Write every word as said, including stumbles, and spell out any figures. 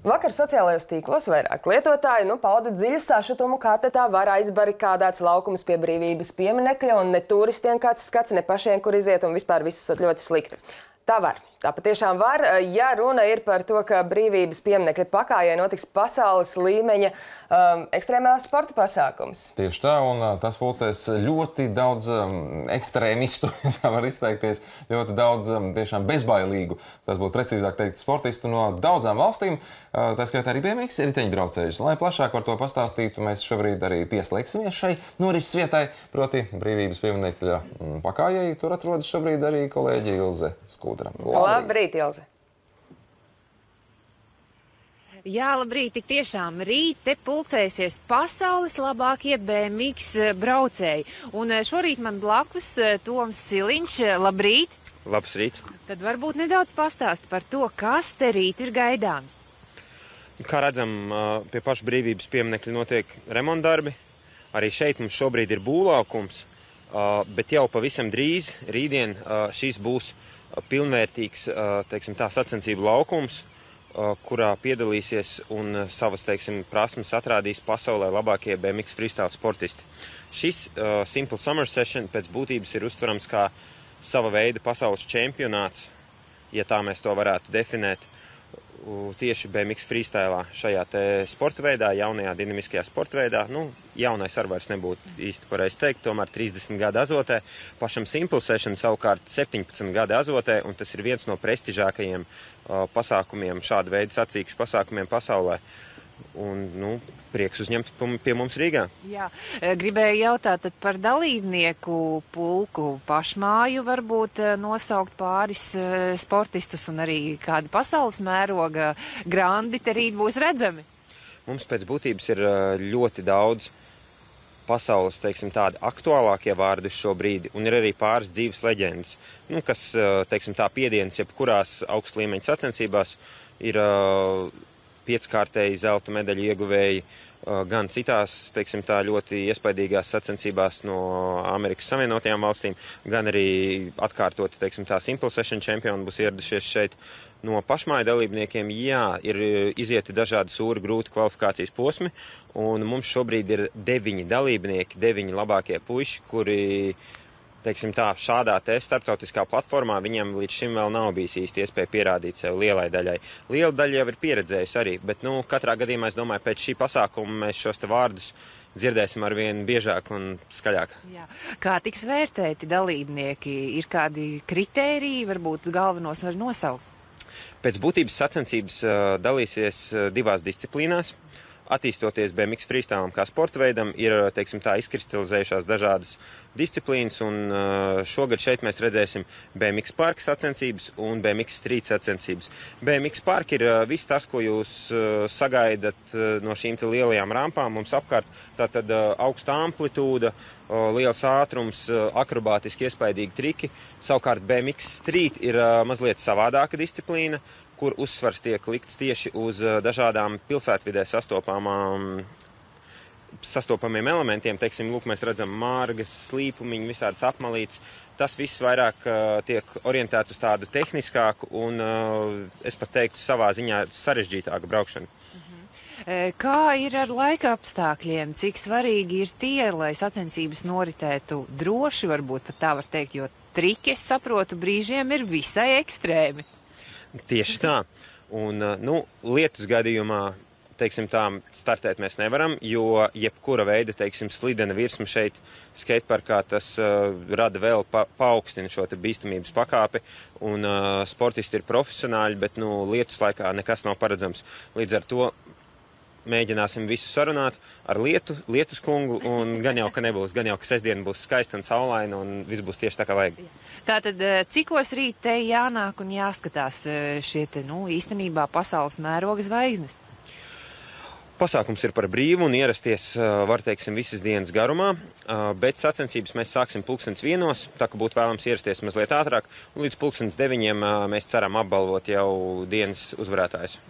Vakar sociālajos tīklos vairāk lietotāji nu, pauda dziļu sašutumu, kā te tā var aizbarikādēts laukums pie brīvības pieminekļa, un ne turistiem kāds skats, ne pašiem, kur iziet, un vispār viss esot ļoti slikti. Tā var. Tā patiešām var, ja runa ir par to, ka brīvības pieminekļa pakājai notiks pasaules līmeņa um, ekstrēmās sporta pasākums. Tieši tā, un uh, tas pulcēs ļoti daudz um, ekstrēmistu, tā var izteikties, ļoti daudz um, tiešām bezbailīgu, tas būtu precīzāk teikt, sportistu no daudzām valstīm, uh, tā skaitā arī B M X riteņbraucējus. Lai plašāk par to pastāstītu, mēs šobrīd arī pieslēgsimies šai norises vietai, proti brīvības pieminekļa um, pakājai. Tur atrodas šobrīd arī kolēģi Ilze Skudra. Labrīt, Ilze! Jā, labrīt, tik tiešām rīt te pulcēsies pasaules labākie B M X braucēji. Un šorīt man blakus Toms Siliņš. Labrīt! Labs rīts! Tad varbūt nedaudz pastāst par to, kas te rīt ir gaidāms. Kā redzam, pie paša brīvības pieminekļa notiek remontdarbi. Arī šeit mums šobrīd ir būvlaukums, bet jau pavisam drīz, rītdien, šis būs pilnvērtīgs, teiksim, tā sacensību laukums, kurā piedalīsies un savas, teiksim, prasmes atrādīs pasaulē labākie B M X freestyle sportisti. Šis uh, Simple Summer Session pēc būtības ir uztverams kā sava veida pasaules čempionāts, ja tā mēs to varētu definēt, tieši B M X freestylā šajā te sporta veidā, jaunajā dinamiskajā sporta veidā. Nu, jaunais ar vairs nebūtu īsti pareizi teikt, tomēr trīsdesmit gadi azotē. Pašam Simple Session savukārt septiņpadsmit gadi azotē, un tas ir viens no prestižākajiem uh, pasākumiem, šāda veida sacīkšu pasākumiem pasaulē. Un, nu, prieks uzņemt pie mums Rīgā. Jā, gribēju jautāt par dalībnieku pulku pašmāju, varbūt nosaukt pāris sportistus un arī kādi pasaules mēroga grandi te rīt būs redzami. Mums pēc būtības ir ļoti daudz pasaules, teiksim, tādi aktuālākie vārdi uz šo brīdi, un ir arī pāris dzīves leģendas, nu, kas, teiksim, tā piedienas jebkurās augsta līmeņa sacensībās ir pieckārtēji zelta medaļu ieguvēji gan citās, teiksim, tā ļoti iespaidīgās sacensībās no Amerikas Savienotajām valstīm, gan arī atkārtoti, teiksim, tā Simple Session čempioni būs ieradušies šeit. No pašmāju dalībniekiem, jā, ir izieti dažādi sūri, grūti kvalifikācijas posmi, un mums šobrīd ir deviņi dalībnieki, deviņi labākie puiši, kuri, teiksim tā, šādā te starptautiskā platformā viņam līdz šim vēl nav bijis īsti iespēja pierādīt sev lielai daļai. Liela daļa jau ir pieredzējusi arī, bet, nu, katrā gadījumā, es domāju, pēc šī pasākuma mēs šos te vārdus dzirdēsim ar vien biežāk un skaļāk. Jā. Kā tiks vērtēti dalībnieki? Ir kādi kritēriji, varbūt galvenos var nosaukt? Pēc būtības sacensības uh, dalīsies uh, divās disciplīnās. Attīstoties B M X freestylam kā sporta veidam, ir, teiksim, tā izkristalizējušās dažādas disciplīnas, un šogad šeit mēs redzēsim B M X parka sacensības un B M X street sacensības. B M X parka ir viss tas, ko jūs sagaidat no šīm te lielajām rampām mums apkārt. Tātad augsta amplitūda, liels ātrums, akrobātiski iespaidīgi triki. Savukārt B M X street ir mazliet savādāka disciplīna, kur uzsvars tiek likts tieši uz dažādām pilsētvidē sastopamām, sastopamiem elementiem. Teiksim, lūk, mēs redzam mārgas, slīpumiņu, visādas apmalītes. Tas viss vairāk uh, tiek orientēts uz tādu tehniskāku un, uh, es pat teiktu, savā ziņā sarežģītāku braukšanu. Mhm. Kā ir ar laika apstākļiem? Cik svarīgi ir tie, lai sacensības noritētu droši, varbūt pat tā var teikt, jo triki, es saprotu, brīžiem ir visai ekstrēmi. Tieši tā. Un, nu, lietus gadījumā, teiksim tā, startēt mēs nevaram, jo jebkura veida, teiksim, slidena virsma šeit skateparkā, tas uh, rada vēl pa, paaugstina šo te bīstamības pakāpi, un uh, sportisti ir profesionāļi, bet, nu, lietus laikā nekas nav paredzams. Līdz ar to mēģināsim visu sarunāt ar lietu, lietus kungu, un gan jau, ka nebūs, gan jau, ka sestdiena būs skaista un saulaina, un viss būs tieši tā, kā vajag. Tātad, cikos rīt te jānāk un jāskatās šie te, nu, īstenībā pasaules mēroga zvaigznes? Pasākums ir par brīvu un ierasties, var teiksim, visas dienas garumā, bet sacensības mēs sāksim pulkstens vienos, tā ka būtu vēlams ierasties mazliet ātrāk, un līdz pulkstens deviņiem mēs ceram apbalvot jau dienas uzvarētājus.